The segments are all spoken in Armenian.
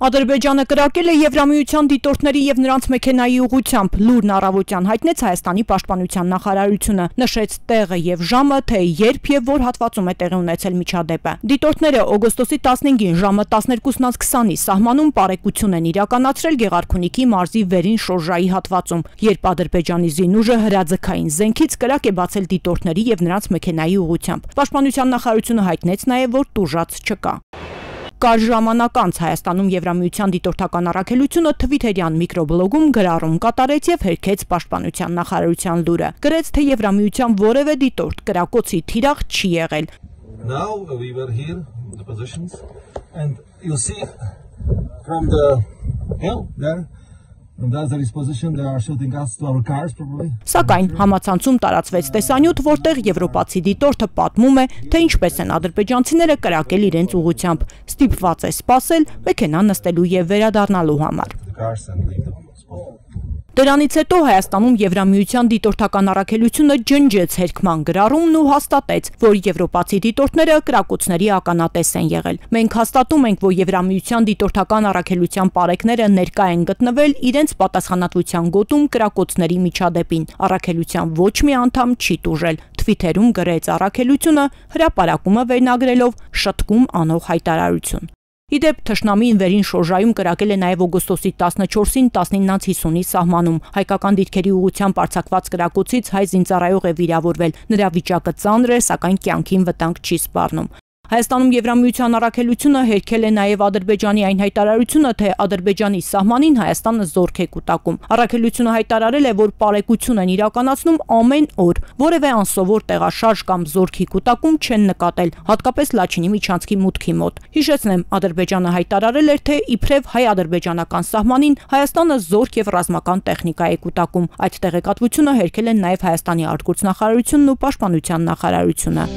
Ադրբեջանը կրակել է Եվրամիության դիտորդների եւ նրանց մեքենայի ուղղությամբ, լուրն առավոտյան հայտնեց Հայաստանի պաշտպանության նախարարությունը, նշեց տեղը եւ ժամը, թե երբ եւ որ հատվածում է տեղի ունեցել միջադեպը։ Դիտորդները օգոստոսի 15-ին ժամը 12:20-ի սահմանում պարեկություն են իրականացրել Գեղարքունիքի մարզի վերին շորժայի հատվածում, երբ Ադրբեջանի զինուժը հրաձգային զենքից կրակ է բացել դիտորդների եւ նրանց մեքենայի ուղղությամբ։ Պաշտպանության նախարարությունը հայտնեց նաեւ, որ տուժած չկա։ Կար ժամանակ անց Հայաստանում Եվրամիության դիտորդական առաքելությունը Թվիթերյան միկրոբլոգում գրառում կատարեց եւ հերքեց պաշտպանության նախարարության լուրը։ Գրեց, թե Եվրամիության որևէ դիտորդ կրակոցի թիրախ չի եղել։ Now we were here the positions and you see from the hill there Սակայն համացանցում տարածվեց տեսանյութ, որտեղ եվրոպացի դիտորդը պատմում է, թե ինչպես են ադրբեջանցիները կրակել իրենց ուղղությամբ, ստիպված է սպասել մեքենա նստելու եւ վերադառնալու համար։ Դրանից հետո Հայաստանում Եվրամիության դիտորդական առաքելությունը ջնջեց հերքման գրառումն ու հաստատեց, որ եվրոպացի դիտորդները կրակոցների ականատես են եղել։ Մենք հաստատում ենք, որ Եվրամիության դիտորդական առաքելության պարեկները ներկա են գտնվել իրենց պատասխանատվության գոտում կրակոցների միջադեպին։ Առաքելության ոչ մի անդամ չի տուժել։ Թվիթերում գրեց առաքելությունը հրապարակումը վերնագրելով շտկում անող հայտարարություն։ Իդեպ թշնամին վերին շորժայում կրակել է նաև օգոստոսի 14-ին 19:50-ի սահմանում։ Հայկական դիրքերի ուղղությամբ արձակված կրակոցից հայ զինծառայող է վիրավորվել։ Նրա վիճակը ծանր է, սակայն կյանքին վտանգ չի սպառնում։ Հայաստանում Եվրամիության առաքելությունը հերքել է նաև Ադրբեջանի այն հայտարարությունը, թե Ադրբեջանի սահմանին Հայաստանը զորք է կուտակում։ Առաքելությունը հայտարարել է, որ պարեկություն են իրականացնում ամեն օր, որևէ անսովոր տեղաշարժ կամ զորքի կուտակում չեն նկատել, հատկապես Լաչինի միջանցքի մուտքի մոտ։ Հիշեցնեմ, Ադրբեջանը հայտարարել էր, թե իբրև հայ-ադրբեջանական սահմանին Հայաստանը զորք եւ ռազմական տեխնիկա է կուտակում։ Այդ տեղեկատվությունը հերքել են նաև Հայաստանի արտգործնախարարությունն ու պաշտպանության նախարարությունը։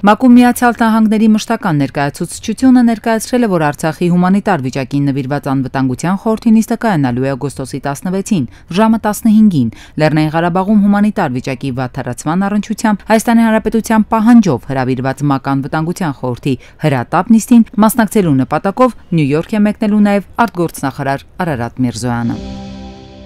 ՄԱԿ-ում Միացյալ Նահանգների մշտական ներկայացուցչությունը ներկայացրել է, որ Արցախի հումանիտար վիճակին նվիրված անվտանգության խորհրդի նիստը կայանալու է օգոստոսի 16-ին, ժամը 15-ին, Լեռնային Ղարաբաղում հումանիտար վիճակի վատթարացման առնչությամբ Հայաստանի Հանրապետության պահանջով հրավիրված ՄԱԿ անվտանգության խորհրդի հրատապ նիստին մասնակցելու նպատակով Նյու Յորք է մեկնելու նաև արտգործնախարար Արարատ Միրզոյանը։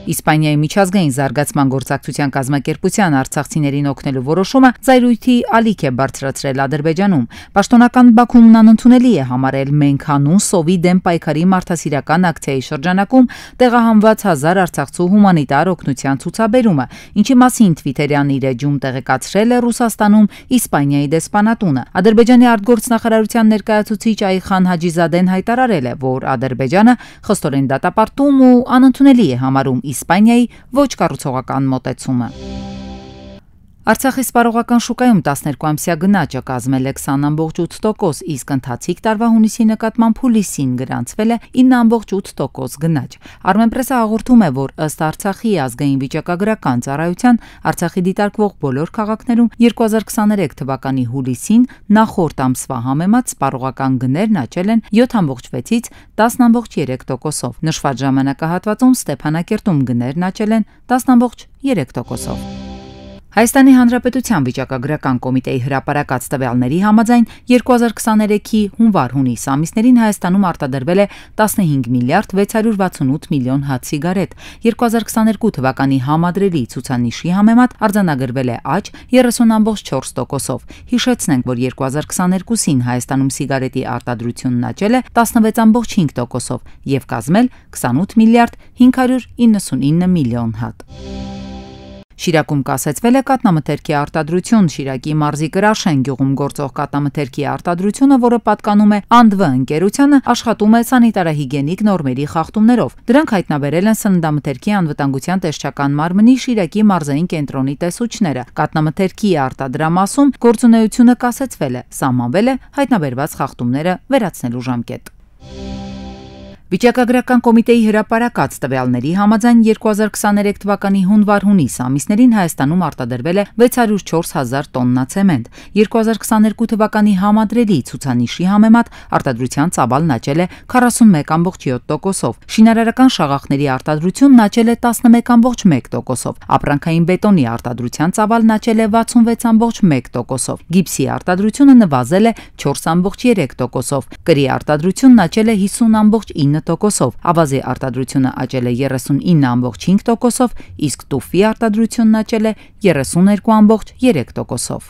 Իսպանիայի միջազգային զարգացման գործակցության կազմակերպության արցախցիներին օգնելու որոշումը ծայրույթի ալիք է բարձրացրել Ադրբեջանում։ Պաշտոնական Բաքուն անընդունելի է համարել մենք հանուն սովի դեմ պայքարի մարդասիրական ակցիայի շրջանակում տեղահանված 1000 արցախցու հումանիտար օգնության ցուցաբերումը, ինչի մասին Թվիթերյան իր էջում տեղեկացրել է Ռուսաստանում Իսպանիայի դեսպանատունը։ Ադրբեջանի արտգործնախարարության ներկայացուցիչ Այխան Հաջիզադեն հայտարարել է, որ Ադրբեջանը խստորեն դատապարտում ու անընդունելի է համարում Իսպանիայի ոչ կառուցողական մոտեցումը։ Արցախի սպառողական շուկայում 12-ամսյա գնաճը կազմել է 20.8%, իսկ ընթացիկ տարվա հունիսի նկատմամբ հուլիսին գրանցվել է 9.8% գնաճ։ Armenpress-ը հաղորդում է, որ ըստ Արցախի ազգային վիճակագրական ծառայության Արցախի դիտարկվող բոլոր քաղաքներում 2023 թվականի հուլիսին նախորդ ամսվա համեմատ սպառողական գներն աճել են 7.6-ից 10.3%-ով։ Նշված ժամանակահատվածում Ստեփանակերտում գներն աճել են 10.3%-ով։ Հայաստանի Հանրապետության վիճակագրական կոմիտեի հրապարակած տվյալների համաձայն 2023-ի հունվար-հունիս ամիսներին Հայաստանում արտադրվել է 15 միլիարդ 668 միլիոն հատ սիգարետ։ 2022 թվականի համադրելի ցուցանիշի համեմատ արձանագրվել է աճ 30.4%-ով։ Հիշեցնենք, որ 2022-ին Հայաստանում սիգարետի արտադրությունն աճել է 16.5%-ով եւ կազմել 28 միլիարդ 599 միլիոն հատ։ Շիրակում կասեցվել է կաթնամթերքի արտադրություն։ Շիրակի մարզի Կրաշեն գյուղում գործող կաթնամթերքի արտադրությունը, որը պատկանում է ԱՆԴՎ ընկերությանը, աշխատում է սանիտարահիգիենիկ նորմերի խախտումներով։ Դրանք հայտնաբերել են սննդամթերքի անվտանգության տեսչական մարմնի Շիրակի մարզային կենտրոնի տեսուչները։ Կաթնամթերքի արտադրամասում գործունեությունը կասեցվել է, սահմանվել է հայտնաբերված խախտումները վերացնելու ժամկետ։ Վիճակագրական կոմիտեի հրապարակած տվյալների համաձայն 2023 թվականի հունվար-հունիս ամիսներին Հայաստանում արտադրվել է 604 հազար տոննա ցեմենտ։ 2022 թվականի համադրելի ցուցանիշի համեմատ արտադրության ծավալն աճել է 41.7%-ով։ Շինարարական շաղախների արտադրությունն աճել է 11.1%-ով։ Ապրանքային բետոնի արտադրության ծավալն աճել է 66.1%-ով։ Գիպսի արտադրությունը նվազել է 4.3%-ով։ Կրի արտադրությունն աճել է 50.9%-ով։ 39%-ով, ավազի արտադրությունը աճել է 39.5%-ով, իսկ տուֆի արտադրությունն աճել է 32.3%-ով։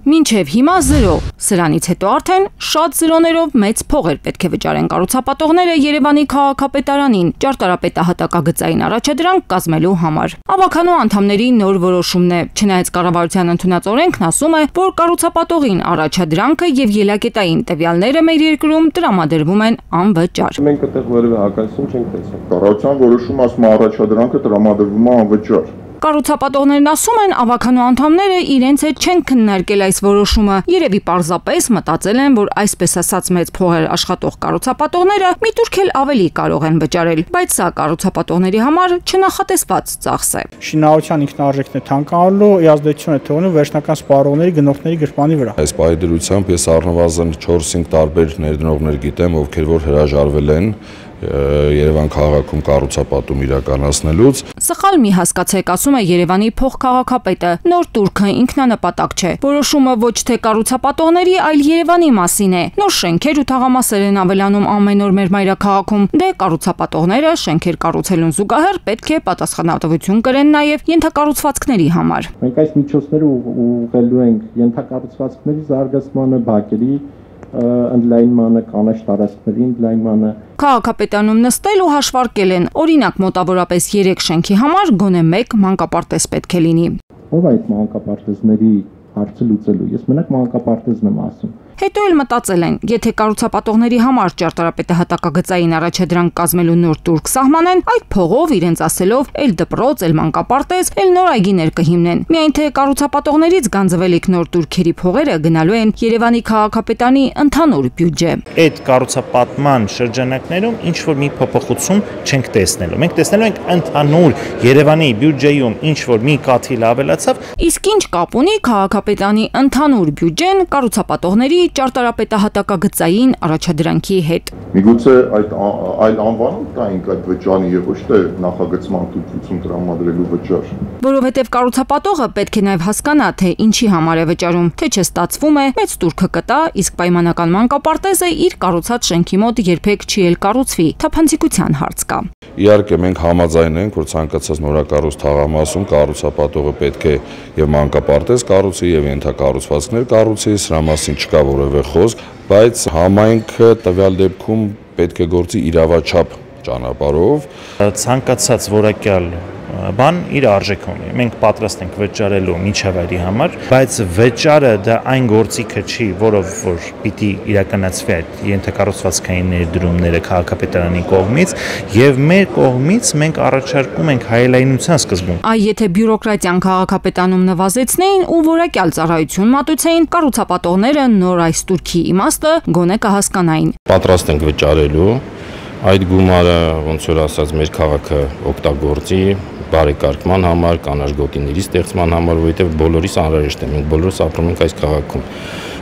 Մինչև հիմա 0, սրանից հետո արդեն շատ զրոներով մեծ փողեր պետք է վճարեն կառուցապատողները Երևանի քաղաքապետարանին ճարտարապետահատակագծային առաջադրանք կազմելու համար։ Ավականու անդամների նոր որոշումն է, չնայած կառավարության ընդունած օրենքն ասում է, որ կառուցապատողին առաջադրանքը եւ ելակետային տվյալները մեր երկրում տրամադրվում են անվճար։ Մենք այդտեղ որևէ հակասություն չենք տեսնում։ Կառավարության որոշումը ասում է առաջադրանքը տրամադրվում է անվճար։ Կառուցապատողներն ասում են, ավականու անդամները իրենց հետ չեն քննարկել այս որոշումը։ Երևի պարզապես մտածել են, որ այսպես ասած մեծ փողեր աշխատող կառուցապատողները միտուրք էլ ավելի կարող են վճարել, բայց սա կառուցապատողների համար չնախատեսված ծախս է։ Շինարարության ինքնարժեքն է թանկանալու, ազդեցություն է թողնում վերջնական սպառողների գնորդների գրպանի վրա։ Այս պայդրությամբ ես առնվազն 4-5 տարբեր ներդրողներ գիտեմ, ովքեր որ հրաժարվել են Երևան քաղաքում կառուցապատում իրականացնելուց։ Սխալ մի հասկացեք, ասում է Երևանի փոխքաղաքապետը, նոր տուրքը ինքնանպատակ չէ։ Որոշումը ոչ թե կառուցապատողների, այլ Երևանի մասին է։ Նոր շենքեր ու թաղամասեր են ավելանում ամեն օր մեր մայրաքաղաքում։ Դե կառուցապատողները շենքեր կառուցելուն զուգահեռ պետք է պատասխանատվություն կրեն նաև ենթակառուցվածքների համար։ Մենք այս միջոցները ուղղելու ենք ենթակառուցվածքների զարգացմանը, բակերի ընդլայնմանը, կանաչ տարածքների ընդլայնմանը։ Քաղաքապետանում նստել ու հաշվարկել են, օրինակ մոտավորապես 3 շենքի համար գոնե 1 մանկապարտեզ պետք է լինի։ Ո՞վ այդ մանկապարտեզների հարցը լուծելու։ Ես մենակ մանկապարտեզն եմ ասում։ Հետո էլ մտածել են, եթե կառուցապատողների համար ճարտարապետահատակագծային առաջադրանք կազմելու նոր տուրք սահմանեն, այդ փողով իրենց ասելով էլ դպրոց, էլ մանկապարտեզ, էլ նոր այգիներ կհիմնեն։ Միայն թե կառուցապատողներից գանձվելիք նոր տուրքերի փողերը գնալու են Երևանի քաղաքապետարանի ընդհանուր բյուջե։ Այդ կառուցապատման շրջանակներում ինչ որ մի փոփոխություն չենք տեսնելու։ Մենք տեսնելու ենք ընդհանուր Երևանի բյուջեում ինչ որ մի կաթիլ ավելացավ։ Իսկ ինչ կապ ունի քաղաքապետարանի ընդհանուր բյուջեն կառուցապատողների ճարտարապետահատակագծային առաջադրանքի հետ։ Միգուցե այդ այլ անվանում տայինք այդ վճարի եւ ոչ թե նախագծման թույլտվություն տրամադրելու վճար։ Որովհետև կառուցապատողը պետք է նաև հասկանա, թե ինչի համար է վճարում, թե չստացվում է, մեծ տուրքը կտա, իսկ պայմանական մանկապարտեզը իր կառուցած շենքի մոտ երբեք չի էլ կառուցվի, թափանցիկության հարց կա։ Իհարկե մենք համաձայն ենք, որ ցանկացած նորակառույց թաղամասում կառուցապատողը պետք է եւ մանկապարտեզ կառուցի եւ ենթակառուցվածքներ կառուցի, սրա մասին չկա որևէ խոսք, բայց համայնքը տվյալ դեպքում պետք է գործի իրավաչափ ճանապարհով։ Ցանկացած որակյալ բան իր արժեքը ունի։ Մենք պատրաստ ենք վճարելու միջավայրի համար, բայց վճարը դա այն գործիքը չի, որով որ պիտի իրականացվի այդ ենթակառուցվածքային ներդրումները քաղաքապետարանի կողմից, եւ մեր կողմից մենք առաջարկում ենք հայելայնության սկզբում։ Այ եթե բյուրոկրատիան քաղաքապետանում նվազեցնեին ու որակյալ ծառայություն մատուցեին, կառուցապատողները նոր այս տուրքի իմաստը գոնե կհասկանային։ Պատրաստ ենք վճարելու այդ գումարը, ոնց որ ասած, մեր քաղաքը օգտագործի բարեկարգման համար, կանաչ գոտիների ստեղծման համար, որովհետև բոլորիս անհրաժեշտ է, մենք բոլորս ապրում ենք այս քաղաքում։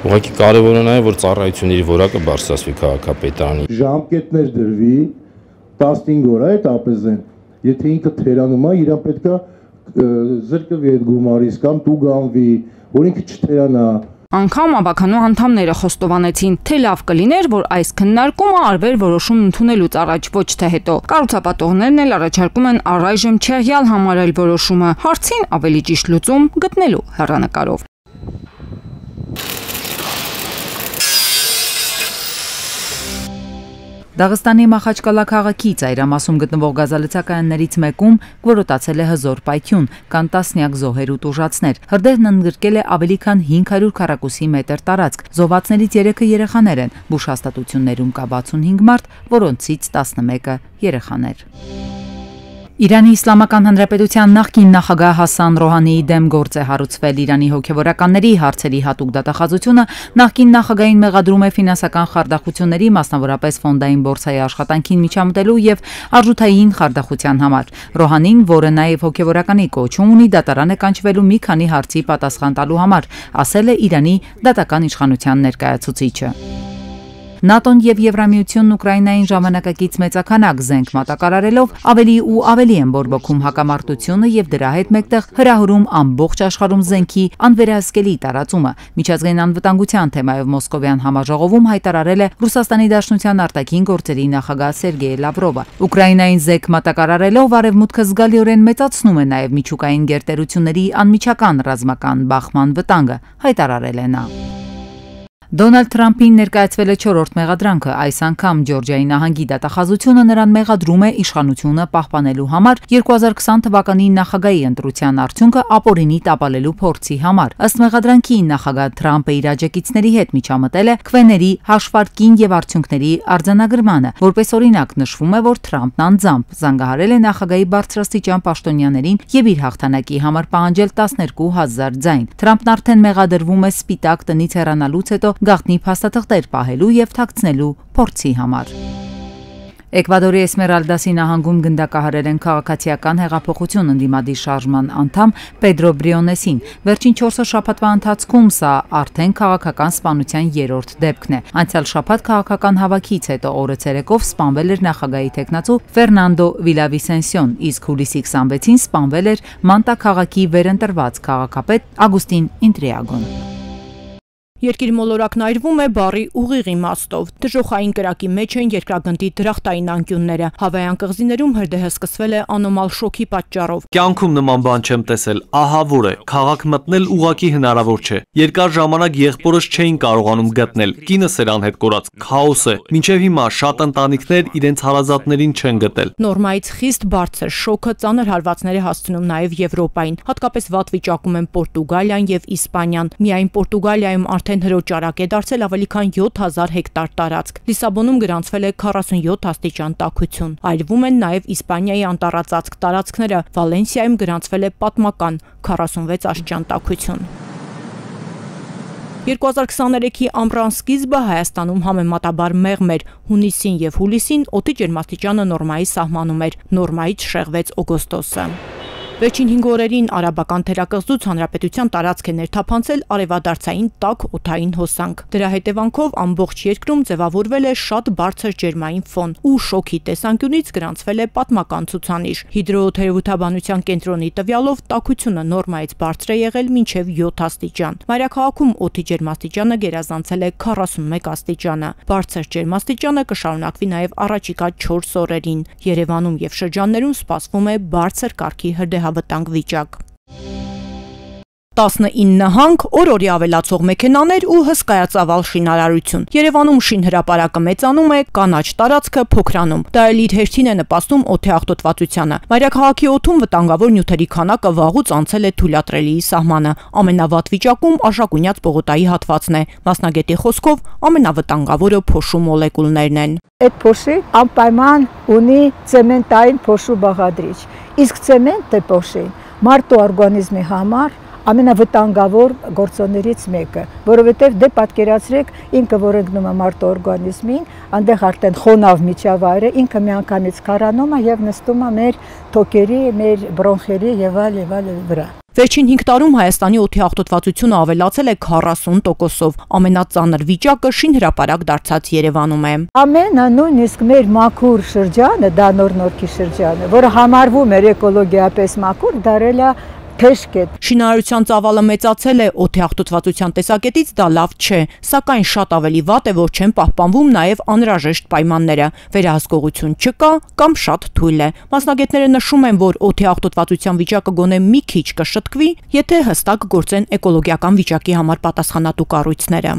Ուղղակի կարևորը նա է, որ ծառայությունների որակը բարձրացվի քաղաքապետարանի։ Ժամկետներ դրվի 15 օր այդ ապեզեն։ Եթե ինքը թերանում է, իրան պետքա զրկվի այդ գումարից կամ տուգանվի, որ ինքը չթերանա։ Անգամ ավականու անդամները խոստովանեցին, թե լավ կլիներ, որ այս քննարկումը արվեր որոշում ընդունելուց առաջ, ոչ թե հետո։ Կառուցապատողներն էլ առաջարկում են առայժմ չեղյալ համարել որոշումը, հարցին ավելի ճիշտ լուծում գտնելու հեռանկարով։ Դաղստանի Մախաչկալա քաղաքի ծայրամասում գտնվող գազալցակայաններից մեկում գորոտացել է հզոր պայթյուն, կան տասնյակ զոհեր ու տուժածներ։ Հրդեհն ընդգրկել է ավելի քան 500 քառակուսի մետր տարածք։ Զոհվածներից 3-ը երեխաներ են։ Բուժհաստատություններում կա 65 մարդ, որոնցից 11-ը երեխաներ։ Իրանի Իսլամական Հանրապետության նախկին նախագահ Հասան Ռոհանիի դեմ գործ է հարուցվել Իրանի հոգևորականների հարցերի հատուկ դատախազությունը նախկին նախագահին մեղադրում է ֆինանսական խարդախությունների, մասնավորապես ֆոնդային բորսայի աշխատանքին միջամտելու եւ արժութային խարդախության համար։ Ռոհանին, որը նաեւ հոգևորականի կոչում ունի, դատարան է կանչվելու մի քանի հարցի պատասխան տալու համար, ասել է Իրանի դատական իշխանության ներկայացուցիչը։ ՆԱՏՕ-ն եւ Եվրամիությունն Ուկրաինային ժամանակակից մեծաքանակ զենք մատակարարելով ավելի ու ավելի են բորբոքում հակամարտությունը եւ դրա հետ մեկտեղ հրահրում ամբողջ աշխարհում զենքի անվերահսկելի տարածումը։ Միջազգային անվտանգության թեմայով Մոսկովյան համաժողովում հայտարարել է Ռուսաստանի Դաշնության արտաքին գործերի նախագահ Սերգեյ Լավրովը։ Ուկրաինային զենք մատակարարելով արևմուտքը զգալիորեն մեծացնում է նաեւ միջուկային գերտերությունների անմիջական ռազմական բախման վտանգը, հայտարարել է նա։ Դոնալդ Թրամփին ներկայացվել է 4-րդ մեղադրանքը, այս անգամ Ջորջիայի նահանգի դատախազությունը նրան մեղադրում է իշխանությունը պահպանելու համար 2020 թվականի նախագահի ընտրության արդյունքը ապօրինի տապալելու փորձի համար։ Ըստ մեղադրանքի նախագահ Թրամփը իր աջակիցների հետ միջամտել է քվեների հաշվարկին եւ արդյունքների արձանագրմանը, որպես օրինակ նշվում է, որ Թրամփն անձամբ զանգահարել է նախագահի բարձրաստիճան պաշտոնյաներին եւ իր հաղթանակի համար պահանջել 12,000 ձայն։ Թրամփն արդեն մեղադրվում է Սպիտակ տնից հեռանալուց հետո գաղտնի փաստաթղթեր պահելու եւ թաքցնելու փորձի համար։ Էկվադորի Էսմերալդասի նահանգում գնդակահարել են քաղաքացիական հեղափոխություն ընդդիմադիր շարժման անդամ Պեդրո Բրիոնեսին։ Վերջին 4 շաբաթվա ընթացքում սա արդեն քաղաքական սպանության 3-րդ դեպքն է։ Անցյալ շաբաթ քաղաքական հավաքից հետո օրը ցերեկով սպանվել էր նախագահի տեխնացու Ֆերնանդո Վիլավիսենսիոն, իսկ հուլիսի 26-ին սպանվել էր Մանտա քաղաքի վերընտրված քաղաքապետ Ագուստին Ինտրիագոն։ Երկիր մոլորակն այրվում է բառի ուղիղ իմաստով։ Դժոխային կրակի մեջ են երկրագնդի դրախտային անկյունները։ Հավայան կղզիներում հրդեհը սկսվել է անոմալ շոկի պատճառով։ Կյանքում նման բան չեմ տեսել, ահավոր է, քաղաք մտնել ուղղակի հնարավոր չէ։ Երկար ժամանակ եղբորս չէին կարողանում գտնել, կինս էր անհետ կորած, քաոս է։ Մինչև հիմա շատ ընտանիքներ իրենց հարազատներին չեն գտել։ Նորմայից խիստ բարձր շոկը ծանր հարվածներ է հասցնում նաև Եվրոպային, հատկապես վատ վիճակում են Պորտուգալիան եւ Իսպանիան։ Միայն Պորտուգալիայում արդեն հրոճարակ է դարձել ավելի քան 7000 հեկտար տարածք։ Լիսաբոնում գրանցվել է 47 աստիճան տաքություն։ Այրվում են նաև Իսպանիայի անտառածածկ տարածքները։ Վալենսիայում գրանցվել է պատմական 46 աստիճան տաքություն։ 2023-ի ամռան սկիզբը Հայաստանում համեմատաբար մեղմ էր։ Հունիսին եւ հուլիսին օդի ջերմաստիճանը նորմայի սահմանում էր, նորմայից շեղվեց օգոստոսը։ Վերջին 5 օրերին արաբական թերակղզուց հանրապետության տարածք է ներթափանցել արևադարձային տաք օդային հոսանք։ Դրա հետևանքով ամբողջ երկրում ձևավորվել է շատ բարձր ջերմային ֆոն ու շոկի տեսանկյունից գրանցվել է պատմական ցուցանիշ։ Հիդրոթերապևտաբանության կենտրոնի տվյալով տաքությունը նորմայից բարձր է եղել մինչև 7 աստիճան։ Մայրաքաղաքում օդի ջերմաստիճանը գերազանցել է 41 աստիճանը։ Բարձր ջերմաստիճանը կշարունակվի նաև առաջիկա 4 օրերին։ Երևանում եւ շրջաններում սպասվում է բարձր կարգի հրդեհավտանգ վիճակ։ 19 նահանգ, օր-օրի ավելացող մեքենաներ ու հսկայածավալ շինարարություն։ Երևանում շինհրապարակը մեծանում է, կանաչ տարածքը փոքրանում։ Դա էլ իր հերթին է նպաստում օդի աղտոտվածությանը։ Մայրաքաղաքի օդում վտանգավոր նյութերի քանակը վաղուց անցել է թույլատրելիի սահմանը։ Ամենավատ վիճակում Աշակունյաց պողոտայի հատվածն է։ Մասնագետի խոսքով ամենավտանգավորը փոշու մոլեկուլներն են։ Այդ փոշի անպայման ունի ցեմենտային փոշու բաղադրիչ։ Իսկ ցեմենտը փոշին մարդու օրգանիզմի համար ամենավտանգավոր գործոններից մեկը, որովհետև դե պատկերացրեք ինքը որ ընկնում է մարդու օրգանիզմին, այնտեղ արդեն խոնավ միջավայր է, ինքը միանգամից քարանում է եւ նստում է մեր թոքերի, մեր բրոնխերի եւ այլ վրա։ Վերջին 5 տարում Հայաստանի օդի աղտոտվածությունը ավելացել է 40%-ով։ Ամենածանր վիճակը շինհրապարակ դարձած Երևանում է։ Ամենը նույնիսկ մեր մաքուր շրջանը, դա Նոր-Նորքի շրջանը, որը համարվում էր էկոլոգիապես մաքուր, դարել է թեժկետ։ Շինարարության ծավալը մեծացել է, օդի աղտոտվածության տեսակետից դա լավ չէ, սակայն շատ ավելի վատ է, որ չեն պահպանվում նաև անհրաժեշտ պայմանները։ Վերահսկողություն չկա կամ շատ թույլ է։ Մասնագետները նշում են, որ օդի աղտոտվածության վիճակը գոնե մի քիչ կշտկվի, եթե հստակ գործեն էկոլոգիական վիճակի համար պատասխանատու կառույցները։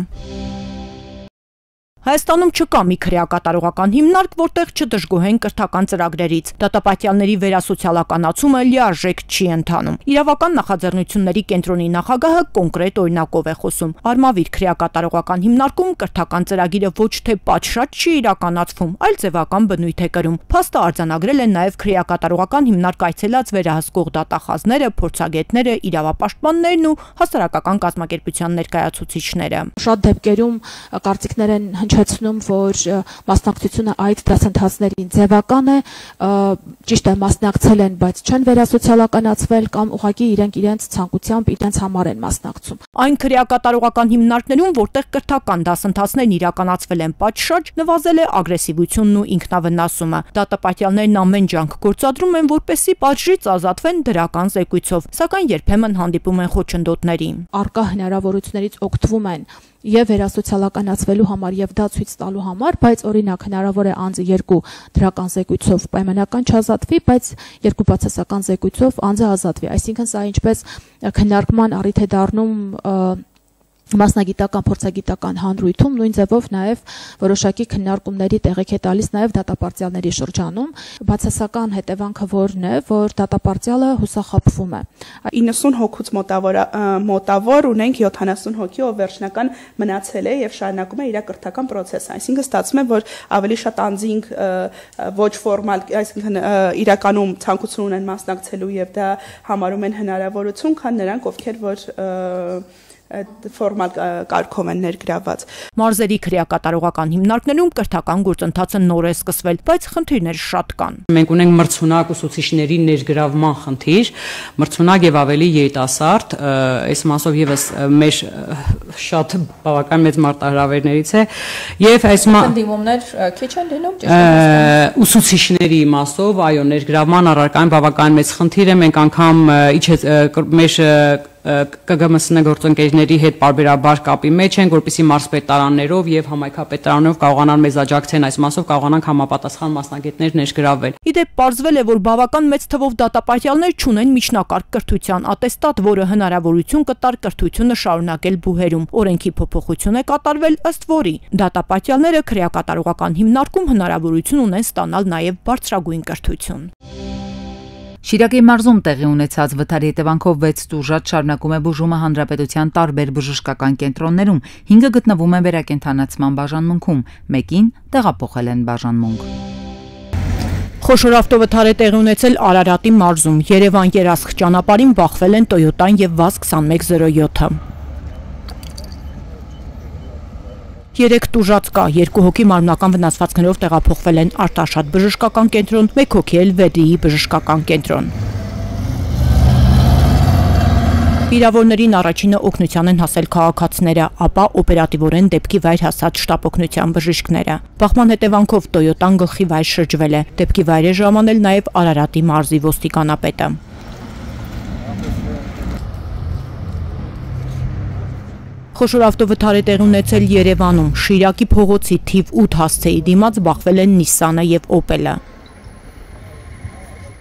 Հայաստանում չկա մի քրեակատարողական հիմնարկ, որտեղ չդժգոհեն կրթական ծրագրերից։ Դատապատյալների վերասոցիալականացումը լիարժեք չի ընթանում։ Իրավական նախաձեռնությունների կենտրոնի նախագահը կոնկրետ օրինակով է խոսում։ Արմավիր քրեակատարողական հիմնարկում կրթական ծրագիրը ոչ թե պատշաճ չի իրականացվում, այլ ձևական բնույթ է կրում։ Փաստը արձանագրել են նաև քրեակատարողական հիմնարկ այցելած վերահսկող դատախազները, փորձագետները, իրավապաշտպաններն ու հասարակական կազմակերպության ներկայացուցիչները։ Շատ դեպքերում կարծիքներ են հիշեցնում, որ մասնակցությունը այդ դասընթացներին ձևական է, ճիշտ է մասնակցել են, բայց չեն վերասոցիալականացվել կամ ուղղակի իրենց ցանկությամբ իրենց համար են մասնակցում։ Այն քրեակատարողական հիմնարկներում, որտեղ կրթական դասընթացներն իրականացվել են պատշաճ, նվազել է ագրեսիվությունն ու ինքնավնասումը։ Դատապատյալներն ամեն ջանք գործադրում են, որպեսզի պատժից ազատվեն դրական զեկույցով, սակայն երբեմն հանդիպում են խոչընդոտների։ Արկա հնարավորություններից օգտվում են եւ վերասոցիալականացվելու համար եւ դա ցույց տալու համար, բայց օրինակ հնարավոր է անձը 2 դրական զեկույցով պայմանական չազատվի, բայց 2 բացասական զեկույցով անձը ազատվի։ Այսինքն սա ինչպես քննարկման առիթ է դառնում մասնագիտական փորձագիտական հանրույթում, նույն ձևով նաև որոշակի քննարկումների տեղիք է տալիս նաև դատապարտյալների շրջանում։ Բացասական հետևանքը որն է, որ դատապարտյալը հուսախաբվում է։ 90 հոգուց մոտավոր ունենք 70 հոգի, ով վերջնական մնացել է եւ շարունակում է իր կրթական process-ը։ Այսինքն ստացվում է, որ ավելի շատ անձինք ոչ ֆորմալ, այսինքն իրականում ցանկություն ունեն մասնակցելու եւ դա համարում են հնարավորություն, քան նրանք, ովքեր որ ֆորմալ կարգով են ներգրաված։ Մարզերի քրեակատարողական հիմնարկներում կրթական գործընթացը նոր է սկսվել, բայց խնդիրներ շատ կան։ Մենք ունենք մրցունակ ուսուցիչների ներգրավման խնդիր, մրցունակ եւ ավելի երիտասարդ, այս մասով եւս մեր շատ բավական մեծ մարտահրավերներից է եւ այս դիմումներ քիչ են լինում, ճիշտ է։ Ուսուցիչների մասով, այո, ներգրավման առարկան բավական մեծ խնդիր է, մենք անգամ մեր ԿԳՄՍՆ գործընկերների հետ պարբերաբար կապի մեջ են, որպեսզի մարզպետարաններով եւ համայնքապետարաններով կարողանան մեզ աջակցեն այս մասով, կարողանանք համապատասխան մասնագետներ ներգրավել։ Իդեպ պարզվել է, որ բավական մեծ թվով դատապարտյալներ չունեն միջնակարգ կրթության ատեստատ, որը հնարավորություն կտար կրթությունը շարունակել բուհերում։ Օրենքի փոփոխություն է կատարվել, ըստ որի դատապարտյալները քրեակատարողական հիմնարկում հնարավորություն ունեն ստանալ նաեւ բարձրագույն կրթություն։ Շիրակի մարզում տեղի ունեցած վթարի հետևանքով 6 տուժած շարունակում է բուժումը հանրապետության տարբեր բժշկական կենտրոններում, 5-ը գտնվում են վերակենդանացման բաժանմունքում, մեկին տեղափոխել են բաժանմունք։ Խոշոր ավտովթար է տեղի ունեցել Արարատի մարզում, Երևան-Երասխ ճանապարհին բախվել են Toyota-ն եւ VAZ-2107-ը։ 3 տուժած կա, 2 հոգի մարմնական վնասվածքներով տեղափոխվել են Արտաշատ բժշկական կենտրոն, 1 հոգի էլ Վեդիի բժշկական կենտրոն։ Վիրավորներին առաջինը օգնության են հասել քաղաքացիները, ապա օպերատիվորեն դեպքի վայր հասած շտապօգնության բժիշկները։ Բախման հետևանքով Toyota-ն գլխի վայր շրջվել է, դեպքի վայր է ժամանել նաև Արարատի մարզի ոստիկանապետը։ Խոշոր ավտովթար է տեղի ունեցել Երևանում, Շիրակի փողոցի թիվ 8 հասցեի դիմաց բախվել են Նիսսանը եւ Օպելը։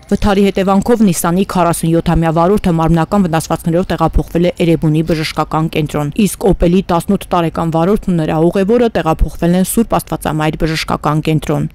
Վթարի հետևանքով Նիսսանի 47-ամյա վարորդը մարմնական վնասվածքներով տեղափոխվել է Էրեբունի բժշկական կենտրոն, իսկ Օպելի 18 տարեկան վարորդն ու նրա ուղևորը տեղափոխվել են Սուրբ Աստվածամայր բժշկական կենտրոն։